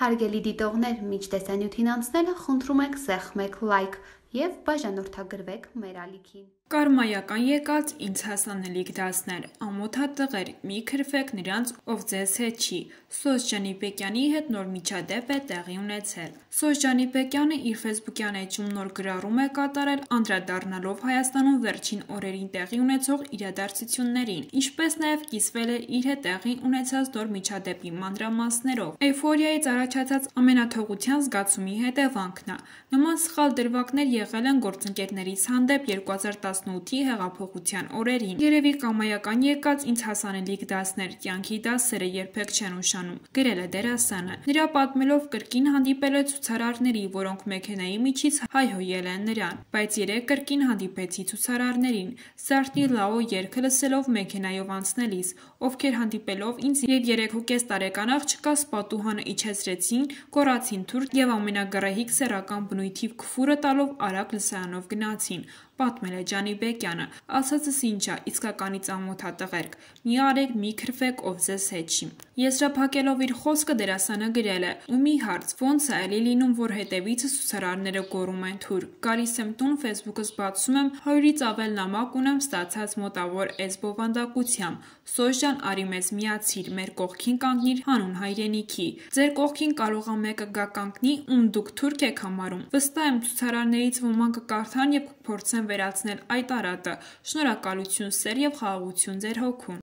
Հարգելի դիտողներ, մինչ տեսանյութին անցնելը խնդրում ենք սեղմեք լայք և բաժանորդագրվեք մեր ալիքին։ Կարմայական եկած ինձ հասանելիք դասներ, ամոթա տղեր, մի քրվեք նրանց, ով ձեզ հետ չի։ Սոս Ջանիբեկյանի հետ նոր միջադեպ է տեղի ունեցել։ Սոս Ջանիբեկյանը իր ֆեյսբուքյան էջում նոր գրառում է կատարել, անդրադառնալով Հայաստանում վերջին օրերին տեղի ունեցող իրադարձություններին, ինչպես նաև կիսվել է իր հետ տեղի ունեցած նոր միջադեպի մանրամասներով։ Էյֆորիայից առաջացած ամենաթողության զգացումի հետևանքն է։ Նման սխալ դրվագներ եղել են գործընկերներից հանդեպ 2018-ի հեղափոխության օրերին։ Երևի կամայական եկած ինձ հասանելիք դասներ, կյանքի դասերը երբեք չեն ուշանում, գրել է դերասանը։ Նրա պատմելով կրկին հանդիպել է ցուցարարների, որոնք մեքենայի միջից հայհոյել են նրան, բայց երեկ կրկին հանդիպեցի ցուցարարներին, Սարտնի Լաո երգը լսելով մեքենայով անցնելիս, ովքեր հանդիպելով ինձ և 3.5 տարեկան աղջկաս պատուհանը իջեցրեցին, գոռացին թուրք և ամենագռեհիկ սեռական բնույթի քֆուրը տալով արագ լսարանով գնացին, պատմել է Ջանիբեկյանը, ասածս ինչ ա, իսկականից ամոթ ա տղերք, մի արեք, մի քրվեք, ով ձեզ հետ չի։ Եզրափակելով իր խոսքը դերասանը գրել է. ու մի հարց, ոնց ա էլի լինում, որ հետևիցս ցուցարարները գոռում են թուրք, գալիս եմ տուն, ֆեյսբուքս բացում եմ, 100-ից ավել նամակ ունեմ ստացած մոտավոր էս բովանդակությամբ, Սոս ջան, արի մեզ միացիր, մեր կողքին կանգնիր հանուն հայրենիքի, ձեր կողքին կարող ա մեկը գա կանգնի, ում դուք թուրք եք համարում, վստահ եմ ցուցարարներից ոմանք կկարդան և կփորձեն վերացնել այդ արատը, շնորհակալություն սեր և խաղաղություն ձեր հոգուն։